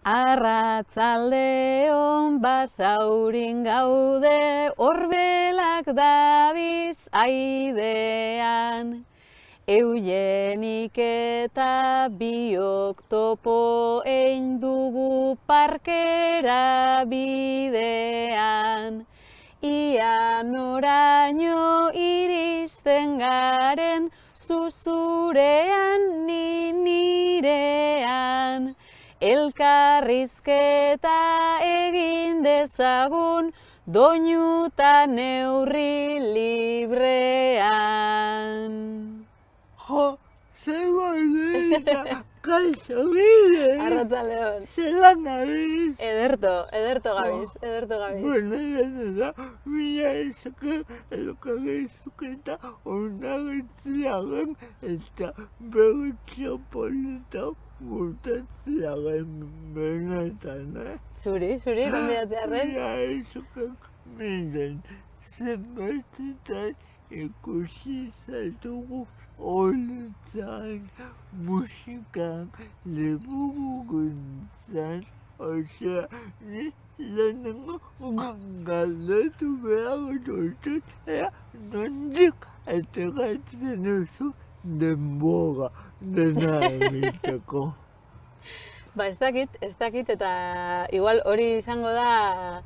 Arratzaldeon basaurin gaude, orbelak dabiz aidean. Eugenik eta biok topo ein dugu parkera bidean. Ia noraino iristen garen, zuzurean ni nirean. Elkarrizketa egin dezagun, doinuta neurri librean. Jo, zer bonita, kaixo bide. Arratzaldeon. Zelan gabiz. Ederto gabiz. Bueno, da, mila ezoke, elkarrizketa onartziaren eta berritxo polita urtatziaren benetan, Zuri, konbidatzearen. Mila ezoke miren, zenbatetan ikusi zaitugu honetan musikan liburuguntzan, osea, ni lehenengo galdetu behar dutut, nondik ateratzen duzu denbora dena egiteko. Ba, ez dakit, eta igual hori izango da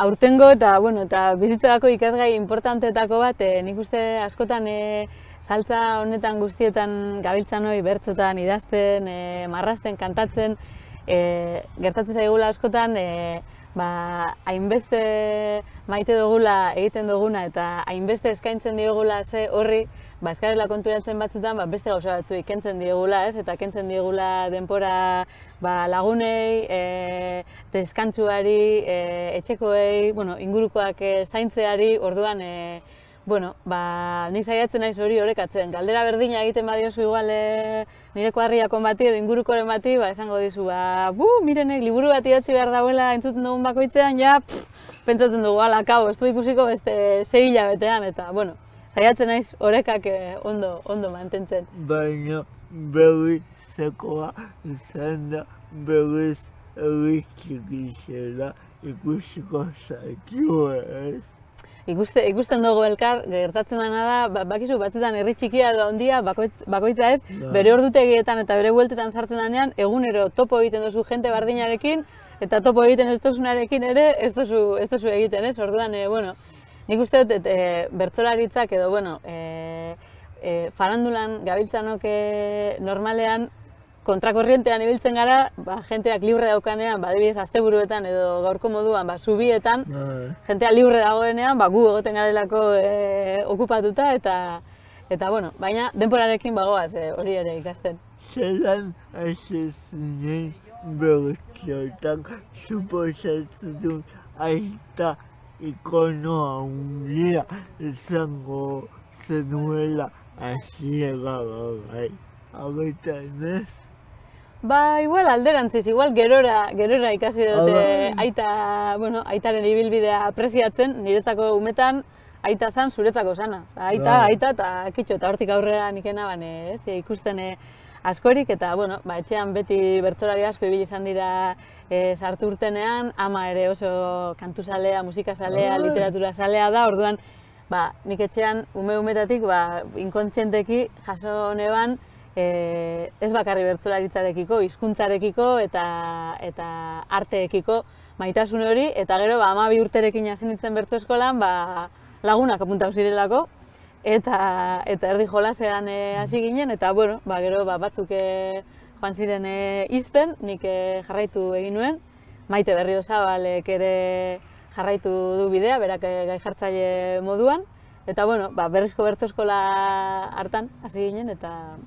aurtengo eta bizitzarako ikasgai importanteetako bat, nik uste askotan saltza honetan guztietan gabiltzan hori bertsotan idazten, marrazten, kantatzen, gertatzen zaigula askotan, hainbeste maite dugula egiten duguna eta hainbeste eskaintzen diogula ze horri, eskarela konturatzen batzutan beste gauza batzuei kentzen diegula, eta kentzen diegula denpora lagunei, deskantzuari, etxekoei, ingurukoak zaintzeari, orduan nik saiatzen naiz hori orekatzen. Galdera berdina egiten badiozu igual nire kuadriakon bati edo ingurukoren bati, esango dizu, mirenek liburu bat idatzi behar dauela entzuten dugun bakoitzean, pentsatzen dugu, kabo, ez du ikusiko beste 6 hilabetean, eta, saiatzen naiz orekak ondo mantentzen. Baina berrizekoa izan da berriz egitxikizela ikusiko zaitu ez. Ikusten dugu elkar, gertatzen dena da, bakizu batzutan herri txikia edo handia, bakoitza ez, bere ordutegietan eta bere bueltetan sartzen denean, egunero topo egiten duzu jente bardinarekin, eta topo egiten ez duzunarekin ere, ez duzu egiten ez, orduan, nik uste dut, bertsolaritzak edo, farandulan gabiltzanok normalean, kontrakorrientean ibiltzen gara, jenteak libre daukanean, adibidez asteburuetan edo gaurko moduan, zubietan, jentea libre dagoenean, gu egoten garelako okupatuta, eta baina denporarekin bagoaz hori ere ikasten. Zelan hasi zinen bertsotan suposatzen dut aita ikono handia izango zenuela hasiera gai. Agoetan ez? Igual alderantziz, igual gerora ikasi dute aitaren ibilbidea apreziatzen, niretzako umetan aita zan zuretzako zana. Aita eta kitxo, eta hortik aurrera nikena ikusten askorik, eta etxean beti bertsolari asko ibili izan dira sartu urtenean, ama ere oso kantuzalea, musikazalea, literaturasalea da, orduan nik etxean umetatik inkontzienteki jaso neban ez bakarri bertsolaritzarekiko, hizkuntzarekiko eta arteekiko maitasun hori, eta gero 12 urterekin hasi nintzen bertso eskolan lagunak apuntatu zirelako, eta erdi jolasean hasi ginen, eta gero batzuk joan ziren izten, nik jarraitu egin nuen, Maite Berriozabalek ere jarraitu du bidea, berak gai jartzaile moduan, eta berrizko bertso eskola hartan hasi ginen, eta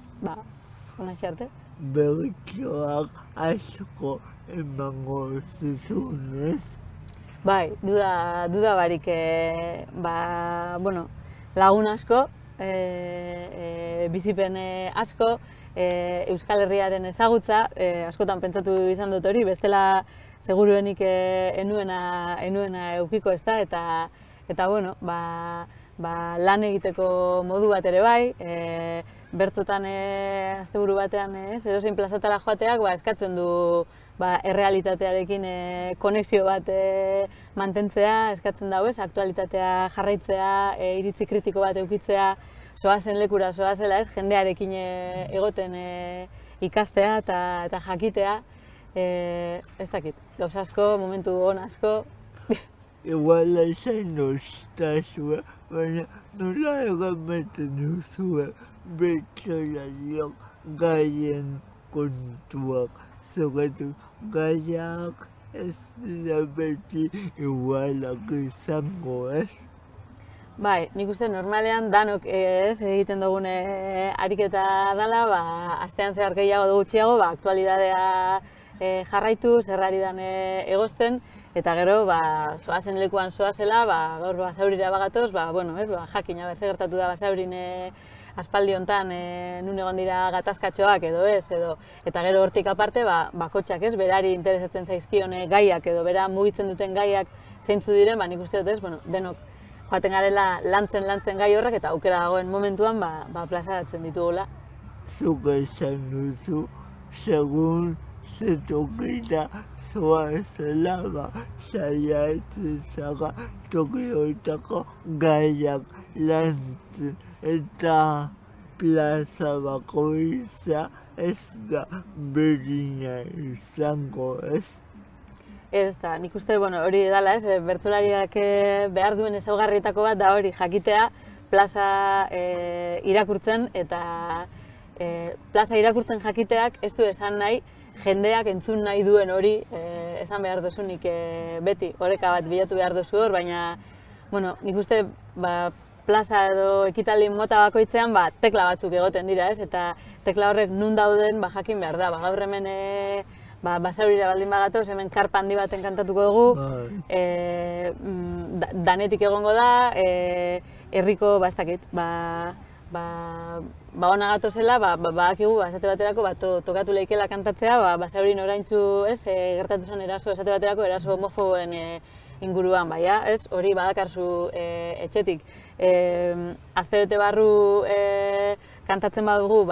honaxe arte. Bertsoak asko emango zizun, ez? Bai, duda barik, lagun asko, bizipen asko, Euskal Herriaren ezagutza, askotan pentsatu izan dut hori, bestela seguruenik enuena eukiko ez da, eta lan egiteko modu bat ere bai, bertsotan asteburu batean edozein plazatara joateak eskatzen du errealitatearekin konexio bat mantentzea eskatzen dago, aktualitatea jarraitzea, iritzi kritiko bat edukitzea, zoazen lekura, zoazela ez, jendearekin egoten ikastea eta jakitea, ez dakit, gauza asko, momentu on asko. Igual esan nostazua, baina nola egameten duzue bertsolariok gaien kontuak, zogatu gaiak ez dira beti igualak izango, ez? Bai, nik uste normalean danok egiten dugun ariketa dela, astean zehar gehiago edo gutxiago, aktualidadea jarraitu, zerrari dan egosten, eta gero, zoazen lekuan zoazela, gaur Basaurira bagatoz, jakina zer gertatu da Basaurin aspaldi hontan nun egon dira gatazkatxoak edo ez, eta gero hortik aparte, bakotxak ez, berari interesatzen zaizkion gaiak edo bera mugitzen duten gaiak zeintzu diren, nik uste dut ez, denok joaten garela lantzen gai horrek eta aukera dagoen momentuan plazaratzen ditugula. Zuk esan duzu, segun zetokita zoazela, saiatzen zara tokioetako gaiak lantzen eta plaza bakoitza ez da berdina izango, ez? Ez da, nik uste hori dela, bertsolariak behar duen ezaugarrietako bat da hori jakitea plaza irakurtzen eta plaza irakurtzen jakiteak ez du esan nahi jendeak entzun nahi duen hori esan behar duzunik beti oreka bat bilatu behar duzu hor, baina nik uste plaza edo ekitaldi mota bakoitzean tekla batzuk egoten dira, eta tekla horrek nun dauden jakin behar da, gaur hemen Basaurira baldin bagatoz, hemen karpa handi baten kantatuko dugu, danetik egongo da, herriko, ez dakit, ona gatozela, badakigu, esate baterako, tokatu lehikela kantatzea, Basaurin oraintzu, gertatu zen eraso, esate baterako, eraso homofoboen inguruan, hori badakarzu etxetik. Astebete barru kantatzen badugu,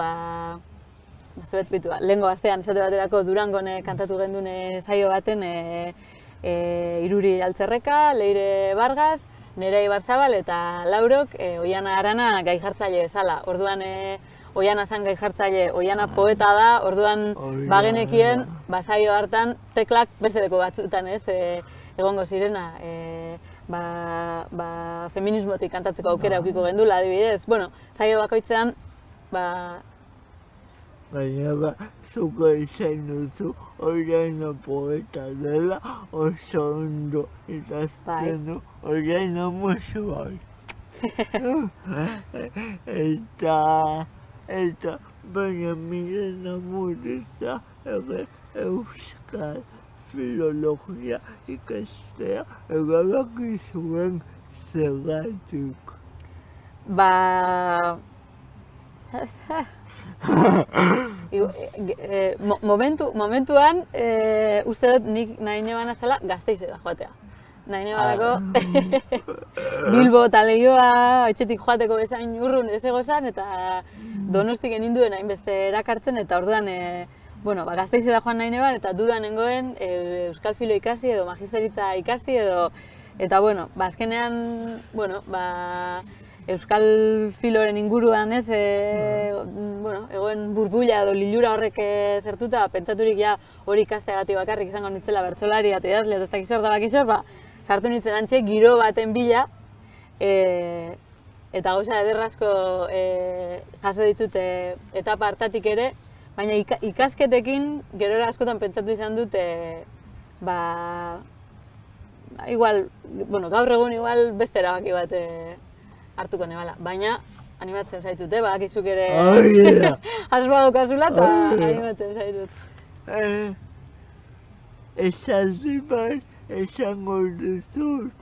lehengo astean esate baterako Durangon kantatu genduen saio baten Iruri Altzerreka, Leire Vargas, Nerea Ibarzabal eta Laurok Oiana Arana gai jartzaile bezala. Orduan Oiana zen gai jartzaile, Oiana poeta da, orduan bagenekien saio hartan teklak beste leko batzutan egongo zirena feminismotik kantatzeko aukera aukiko gendula adibidez. Saio bakoitzean baina zuko izan duzu Oiana poeta dela oso ondo idazten du Oiana musu bat. Eta baina Miren Amureza euskal filologia ikastea erabaki zuen zergatik. Momentuan, uste dut nik nahi nebana zela Gasteizera joatea. Nahi nebanako Bilbo eta Leioa etxetik joateko bezain urrun ez egozan eta Donostik geninduen hainbeste erakartzen eta orduan Gasteizera joan nahi neban eta dudan nengoen euskal filo ikasi edo magisteritza ikasi edo eta azkenean euskal filoren inguruan egoen burbuila edo lilura horrek zertuta, pentsaturik hori ikasteagatik bakarrik izango nintzela bertsolaria eta idazlea eta ez dakiz zer, sartu nintzen antxe giro baten bila eta gauza ederrazko jaso ditut etapa hartatik ere, baina ikasketekin gerora askotan pentsatu izan dut gaur egun beste erabaki bat hartuko nebala, baina animatzen zaitut, badakizuk ere asmoa daukazula eta animatzen zaitut. Esaldi bat esango dizut.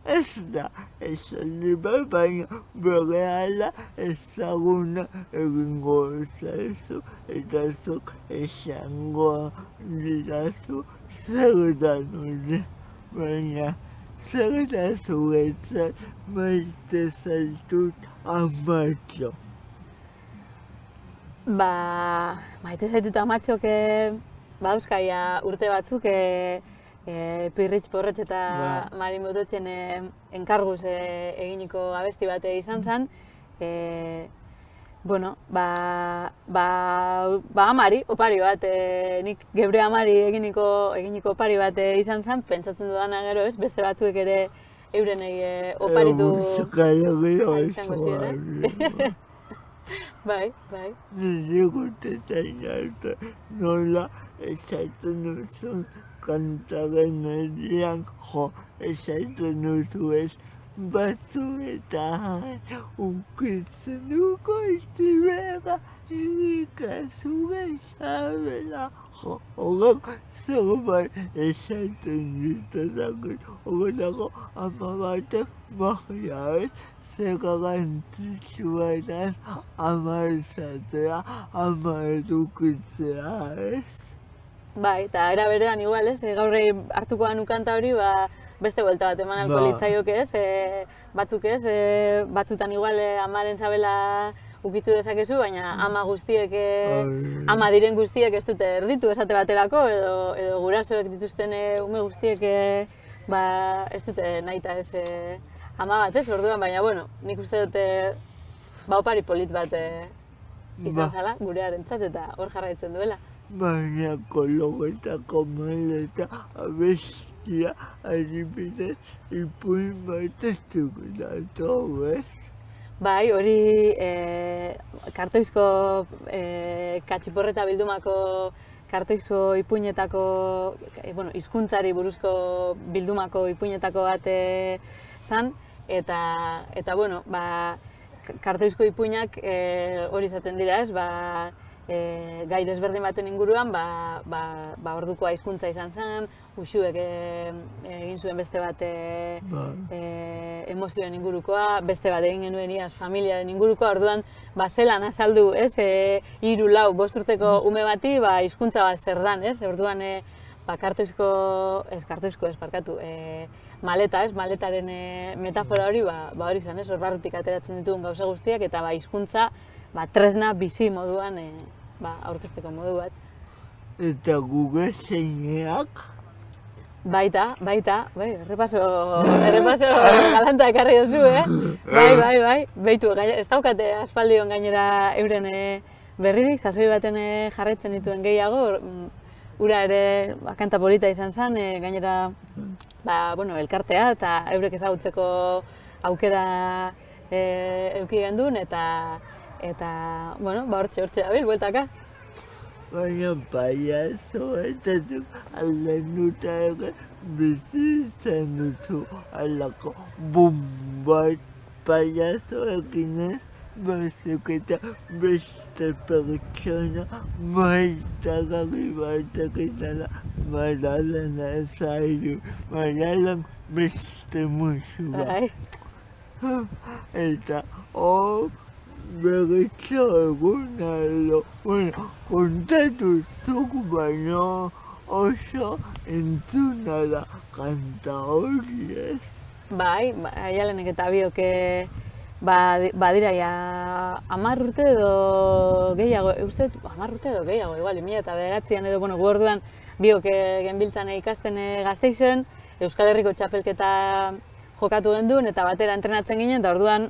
Ez da esaldi bat, baina berehala ezaguna egingo zaizu eta zuk esango didazu zer da nire, baina zer da zuretzat maite zaitut amatxo. Maite zaitut amatxok badauzkaia urte batzuk Pirritx Porrotx eta Mari Mototxen enkarguz eginiko abesti bat izan zen. Bueno, amari, opari bat, nik geure amari eginiko opari bat izan zen, pentsatzen dudana gero ez, beste batzuek ere eurenei oparitu izango ziren. Bai. Nire gutetan arte nola esaten duzun kantaren erian esaten duzu ez batzuetan ukitzen duko istibera irikazu gezabela hogak zerbait esaten ditazakit hogelako ama batek magia ez zer garrantzitsua edan ama esatea, ama edukitzea ez? Bai, eta era berean igual ez, gaurrei hartuko danu kanta hori, beste buelta bat eman alko litzaiok ez, batzuk ez, batzutan igual amaren sabela ukitu dezakezu, baina ama guztiek, ama diren guztiek ez dute erditu esate baterako, edo gurasoek dituzten ume guztiek ez dute nahita ez ama bat ez, orduan, baina bueno, nik uste dute opari polit bat izan zala gurearentzat eta hor jarraitzen duela. Baina kologetako maleta abestia adibidez ipuin bat ez dugulatu, ez? Bai, hori kartoizko Katxiporreta bildumako kartoizko ipuinetako, hizkuntzari buruzko bildumako ipuinetako bat zan, eta bueno, kartoizko ipuinak hori izaten dira ez, gai desberdin baten inguruan, ordukoa hizkuntza izan zen, Uxuek egin zuen beste bat emozioen ingurukoa, beste bat egin genuen iaz familiaren ingurukoa, orduan zelan azaldu, ez, 3, 4, 5 urteko ume bati, hizkuntza bat zer dan, ez, orduan maleta, ez, maletaren metafora hori, hori izan, ez, hor barrutik ateratzen ditugun gauza guztiak, eta hizkuntza tresna bizi moduan aurkezteko modu bat. Eta Google zeineak? Baita, errepaso galanta ekarri duzu, Bai, beitu, ez daukate aspaldion gainera euren berririk, sasoi baten jarraitzen dituen gehiago, ura ere kanta polita izan zen, gainera elkartea eta eurek ezagutzeko aukera eduki gendun, eta hortxe dabil, bueltaka. Baina paiazo eta aldenuta ere bizi izan duzu alako bat paiazoekin ez, batzuk eta beste pertsona maitagarri batek izala Madalena zailu, Madalan beste musu bat. Eta berritxo eguna edo, kontatu zuk baino oso entzuna da kanta hori ez? Bai, Aialenek eta biok badira ja 10 urte edo gehiago, uste 10 urte edo gehiago, igual, 2009an edo, gu orduan biok genbiltzan ikasten Gasteizen, Euskal Herriko txapelketa jokatu genduen eta batera entrenatzen ginen, eta orduan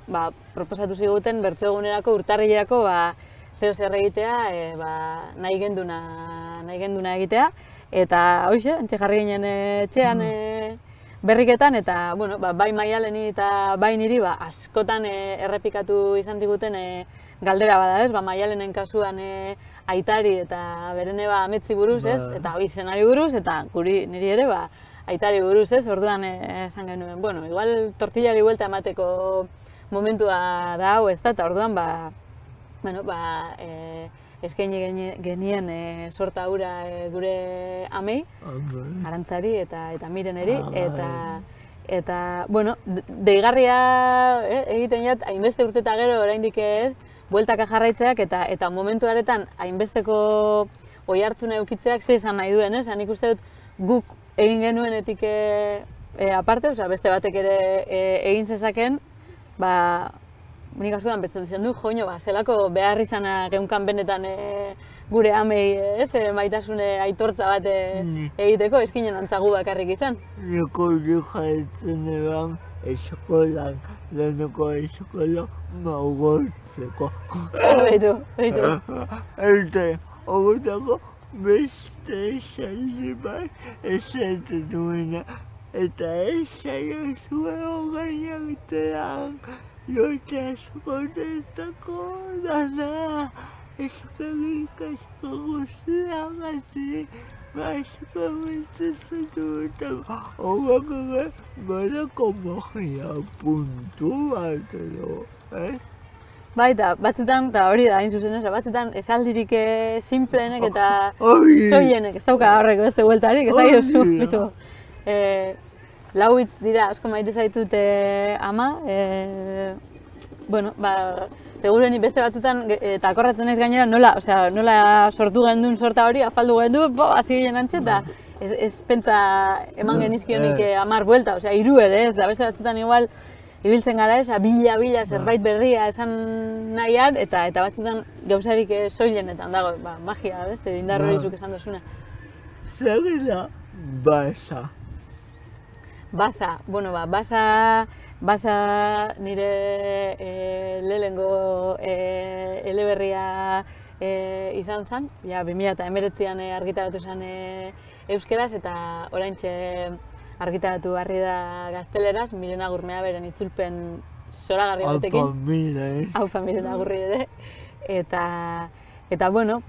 proposatu ziguten bertso-egunerako urtarrilerako zeo zer egitea, nahi genduna egitea, eta hoxe, antxe jarri ginen etxean berriketan, eta bai Maialeni eta bai niri askotan errepikatu izan diguten galdera bada ez, Maialenen kasuan aitari eta berene ametzi buruz ez, eta izenari buruz, eta niri ere aitari buruz ez, orduan esan genuen, igual tortillari buelta emateko momentua da hau ez da, eta orduan eskaini genien sorta hura gure amei, Arantzari eta Mireneri, eta deigarria egiten jat, hainbeste urte eta gero oraindik ez, bueltaka jarraitzeak eta momentu haretan hainbesteko oihartzuna eukitzeak ze esan nahi duen, ez? Nik uste dut guk egin genuenetik aparte, beste batek ere egin zezaken, nik askotan pentsatzen izan du, joño, zelako behar izana geunkan benetan gure amei, ez, maitasune aitortza bat egiteko, eskinen antzagu bakarrik izan. Niko jartzen eban eskolan, leheneko eskola magortzeko. Beitu. Eta horretako beste esaldi bat esaten duena. Eta esaio zuen gainaktean, lote askotetako dana. Eskerrik asko guztiagatik, asko bintzen dutako. Horrek badako magia puntu bat edo, ez? Baita, batzutan, eta hori da, hain zuzen, batzutan esaldirik simpleenek eta soilenek, ez dauka horrek beste bueltarik, ez ari duzu, bitu. Lau hitz dira, asko maite zaitut ama, bueno, segurueni beste batzutan, eta akorratzen ez gainera, nola sortu gendun sorta hori, afaldu gendu, hasi ginen antxe, eta ez pentsa eman genizkionik 10 buelta, hiru ere, ez da beste batzutan igual, ibiltzen gara ez, bila zerbait berria esan nahian, eta batzutan gauzarik soilenetan dago, magia, ez, indar hori zuk esan duzuna. Zer da basa? Basa, bueno, basa nire lehenengo eleberria izan zen, ja 2019an argitaratu zen euskeraz, eta oraintxe argitaratu barri da gazteleraz, Miren Agurmea beren itzulpen zoragarri batekin. Aupa Mira, eh? Aupa Miren Agurri ere. Eta bueno,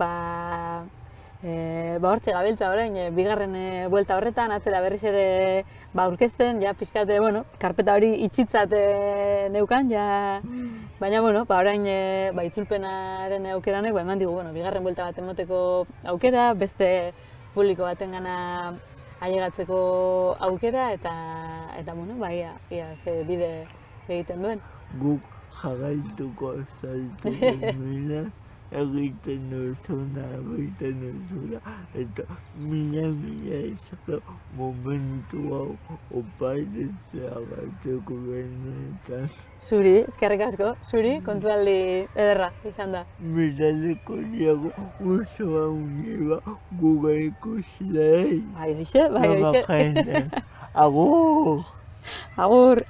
hortxe gabiltza orain, bigarren buelta horretan, atzera berriz ere aurkezten, ja pixkat, bueno, karpeta hori itxitzat neukan, ja, baina, bueno, orain itzulpenaren aukeranek, eman digu, bigarren buelta bat emoteko aukera, beste publiko batengana ailegatzeko aukera, eta bueno, ia ze bide egiten duen. Guk jarraituko zaitu mila, egiten duzuna, eta mila izako momentu hau oparitzea bateko benetan. Zuri, eskerrik asko, zuri, kontualdi ederra izan da. Miraleko diago osoa uniba guga ikusilei. Bai, hoxe. Agur! Agur!